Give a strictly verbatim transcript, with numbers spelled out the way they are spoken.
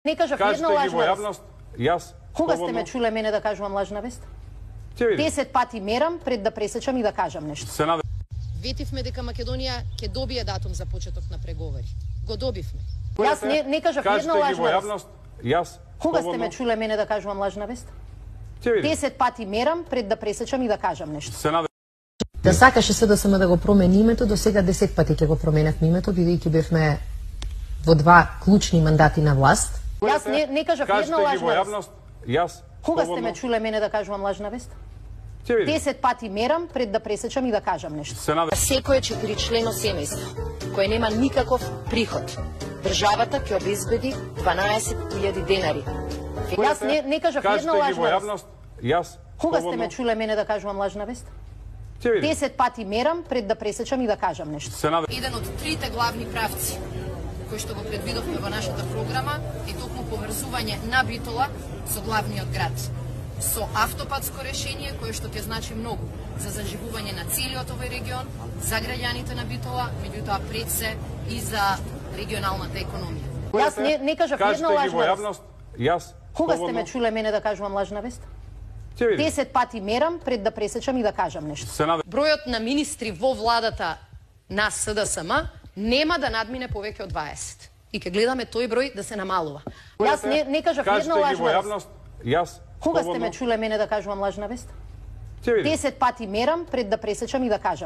Не кажав една лажна вест. Јас. Кога сте ме чуле мене да кажувам лажна вест? Десет пати мерам пред да пресечам и да кажам нешто. Ветивме дека Македонија ќе добие датум за почеток на преговори. Го добивме. Јас не, не кажав една лажна вест. Јас. Кога сте ме чуле мене да кажувам лажна вест? Десет пати мерам пред да пресечам и да кажам нешто. Да сакаше се да сме да го промени името, до сега десет пати ќе го променевме името, бидејќи бевме во два клучни мандати на власт. Јас не, не кажав една лажна вест. Јас. Кога сте ме чуле мене да кажувам лажна вест? Десет пати мерам пред да пресечам и да кажам нешто. Секое четиричлено семејство кое нема никаков приход, државата ќе обезбеди дванаесет илјади денари. Јас не, не кажав една лажна вест. Јас. Кога сте ме чуле мене да кажувам лажна вест? Десет пати мерам пред да пресечам и да кажам нешто. Еден од трите главни правци кои што го предвидовме во нашата програма е токму поврзување на Битола со главниот град, со автопатско решение кое што ќе значи многу за заживување на целиот овој регион, за граѓаните на Битола, меѓутоа пред се и за регионалната економија. Јас не, не кажав една лажна вест. Јас. Кога сте ме чуле мене да кажувам лажна вест? Десет пати мерам пред да пресечам и да кажам нешто. Бројот на министри во владата на СДСМ нема да надмине повеќе од дваесет. И ќе гледаме тој број да се намалува. Јас не, не кажав една лажна вест. Јас. Кога сте ме чуле мене да кажувам лажна вест? Десет пати мерам пред да пресечам и да кажам.